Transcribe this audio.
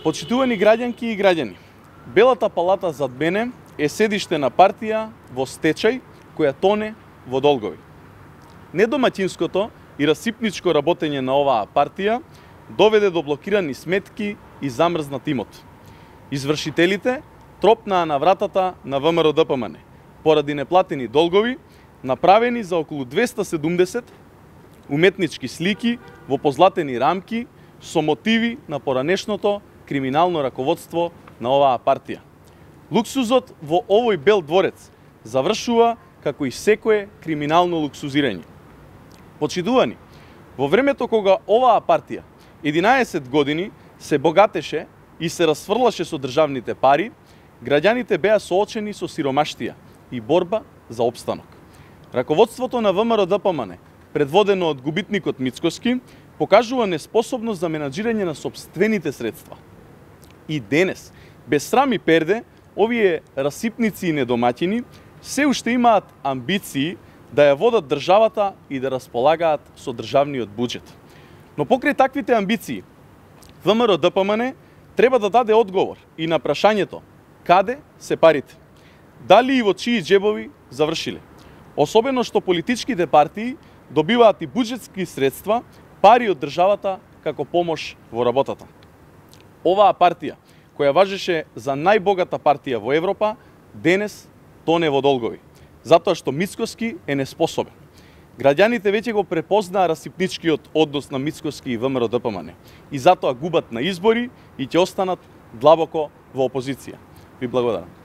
Почитувани граѓанки и граѓани, Белата палата зад мене е седиште на партија во стечај која тоне во долгови. Недомаќинското и расипничко работење на оваа партија доведе до блокирани сметки и замрзнат имот. Извршителите тропнаа на вратата на ВМРО-ДПМН поради неплатени долгови, направени за околу 270 уметнички слики во позлатени рамки со мотиви на поранешното криминално раководство на оваа партија. Луксузот во овој бел дворец завршува како и секое криминално луксузирање. Почитувани, во времето кога оваа партија 11 години се богатеше и се расфрлаше со државните пари, граѓаните беа соочени со сиромаштија и борба за опстанок. Раководството на ВМРО-ДПМН, предводено од губитникот Мицкоски, покажува неспособност за менаџирање на сопствените средства. И денес, без срам и перде, овие расипници и недомаќини се уште имаат амбиции да ја водат државата и да располагаат со државниот буџет. Но покрај таквите амбиции, ВМРО-ДПМН треба да даде одговор и на прашањето каде се парите, дали и во чии џебови завршиле. Особено што политичките партии добиваат и буџетски средства, пари од државата како помош во работата. Оваа партија, која важеше за најбогата партија во Европа, денес тоне во долгови, затоа што Мицкоски е неспособен. Граѓаните веќе го препознаа расипничкиот однос на Мицкоски и ВМРО-ДПМН и затоа губат на избори и ќе останат длабоко во опозиција. Ви благодарам.